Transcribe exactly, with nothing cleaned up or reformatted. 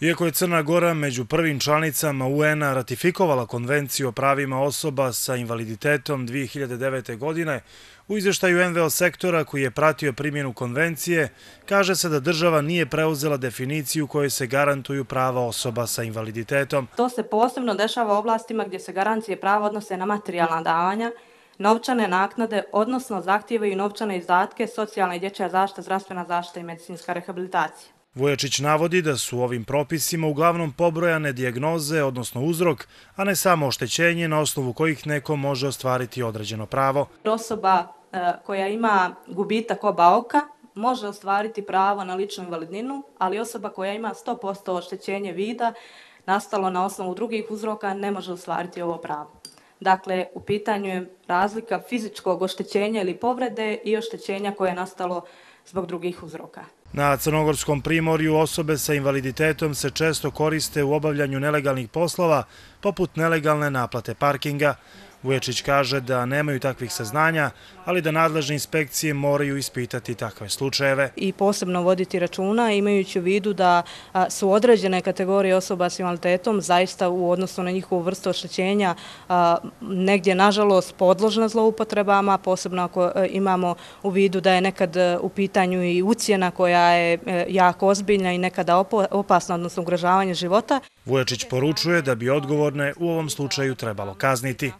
Iako je Crna Gora među prvim članicama U N-a ratifikovala Konvenciju o pravima osoba sa invaliditetom dvije hiljade devete. godine, u izvještaju N V O sektora koji je pratio primjenu konvencije, kaže se da država nije preuzela definiciju kojoj se garantuju prava osoba sa invaliditetom. To se posebno dešava u oblastima gdje se garancije prava odnose na materijalna davanja, novčane naknade, odnosno zahtijevaju novčane izdatke, socijalna i dječja zaštita, zdravstvena zaštita i medicinska rehabilitacija. Vujačić navodi da su ovim propisima uglavnom pobrojane dijagnoze, odnosno uzrok, a ne samo oštećenje na osnovu kojih neko može ostvariti određeno pravo. Osoba koja ima gubitak oba oka može ostvariti pravo na ličnu invalidninu, ali osoba koja ima sto posto oštećenje vida nastalo na osnovu drugih uzroka ne može ostvariti ovo pravo. Dakle, u pitanju je razlika fizičkog oštećenja ili povrede i oštećenja koje je nastalo zbog drugih uzroka. Na Crnogorskom primorju osobe sa invaliditetom se često koriste u obavljanju nelegalnih poslova, poput nelegalne naplate parkinga. Vujačić kaže da nemaju takvih saznanja, ali da nadležne inspekcije moraju ispitati takve slučajeve. I posebno voditi računa, imajući u vidu da su određene kategorije osoba s invaliditetom zaista u odnosu na njihovu vrstu oštećenja negdje, nažalost, podložna zloupotrebama, posebno ako imamo u vidu da je nekad u pitanju i ucjena koja je jako ozbiljna i nekada opasna, odnosno ugrožavanje života. Vujačić poručuje da bi odgovorne u ovom slučaju trebalo kazniti.